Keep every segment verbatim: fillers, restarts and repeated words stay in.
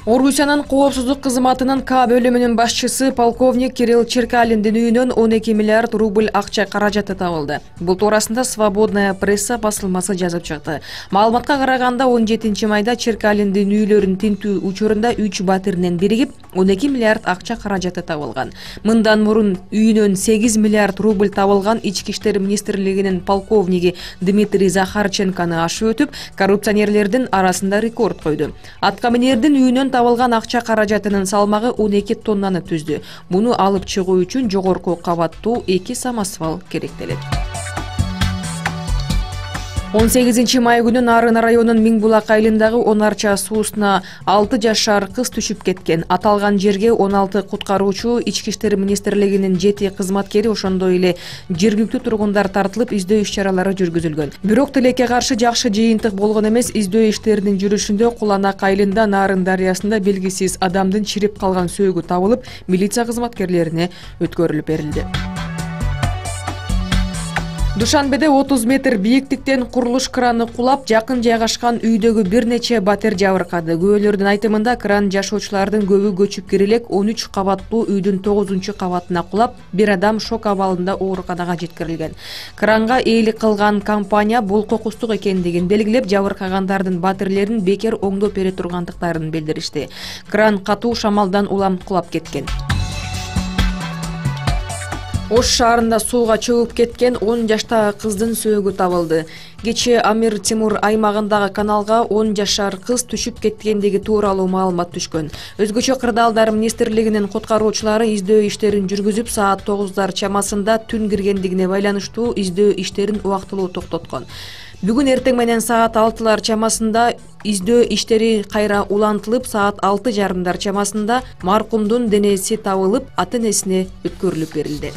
Орусиянын коопсуздук кызматынын К бөлүмүнүн башчысы полковник Кирилл Черкалиндин үйүнөн он эки миллиард рубль акча каражаты табылды. Бул туурасында Свободная пресса басылмасы жазып чыкты. Маалыматка караганда он жетинчи майда Черкалиндин үйлөрүн тинтүү учурунда үч батиринен биригип он эки миллиард акча каражаты табылган. Мындан мурун үйүнөн сегиз миллиард рубль табылган Ички иштер министрлигинин полковниги Дмитрий Захарченкону ашып өтүп, коррупционерлердин арасында рекорд койду. Аткаминердин үйүнөн табылган акча каражатынын салмагы он эки тоннаны түздү. Буну алып чыгуу үчүн жогорку кабаттуу эки самосвал керектелет. он сегизинчи май күнү Нарын районунун Миңбулак айылындагы Онарча суусуна алты жашар кыз түшүп кеткен. Аталган жерге он алты куткаруучу, Ички иштер министрлигинин жети кызматкери, ошондой эле жергиликтүү тургундар тартылып, издөө иш-чаралары жүргүзүлгөн. Бирок тилекке каршы жакшы жыйынтык болгон эмес. Издөө иштеринин жүрүшүндө Куланак айылында Нарын дарыясында белгисиз адамдын чирип калган сөөгү табылып, милиция кызматкерлерине өткөрүлүп берилди. Душанбеде отуз метр бийиктиктен курулуш краны кулап, жакын жайгашкан үйдөгү бир нече батир жабыркады. Күбөлөрдүн айтымында кран жашоочулардын көбү көчүп кире элек он үч кабаттуу үйдүн тогузунчу кабатына кулап, бир адам шок абалында ооруканага жеткирилген. Кранга ээлик кылган компания бул кокустук экендигин белгилеп, жабыркагандардын батирлерин бекер оңдоп бере тургандыктарын билдиришти. Кран катуу шамалдан улам кулап кеткен. Ош шаарында сууга чөгүп кеткен он жаштагы кыздын сөөгү табылды. Кечээ Амир Тимур аймагындагы каналга он жашар кыз түшүп кеткендиги тууралуу маалымат түшкөн. Өзгөчө Кырдаалдар министрлигинин куткаруучулары издөө иштерин жүргүзүп, саат тогуздар чамасында түн киргендигине байланыштуу издөө иштерин убактылуу токтоткон. Бүгүн эртең менен саат алтылар чамасында издөө иштери кайра улантылып, саат алты жарымдар чамасында маркумдун денеси табылып, ата-энесине өткөрүлүп берилди.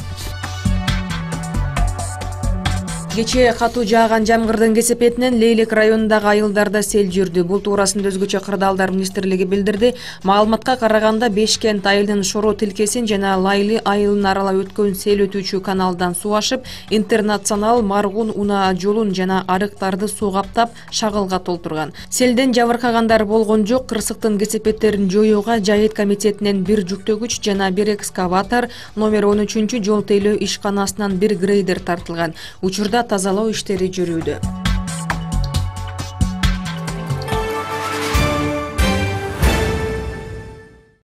Кечээ катуу жааган жамгырдын кесепетинен Лейлек районундагы айылдарда сел жүрдү. Бул туурасында өзгөчө Кырдаалдар министрлиги билдирди. Маалыматка караганда Бешкент айылынын Шоро тилкесин жана Лайлы айылын аралап өткөн сел өтүүчү каналдан суу ашып, Интернационал, Маргун унаа жолун жана арыктарды суу каптап, шагылга толтурган. Селден жабыркагандар болгон жок. Кырсыктын кесепеттерин жоюуга Жайыт комитетинен бир жүктөгүч жана бир экскаватор, номер он үчүнчү жол тейлөө ишканасынан бир грейдер тартылган. Учурда тазалоо иштери жүрүүдө.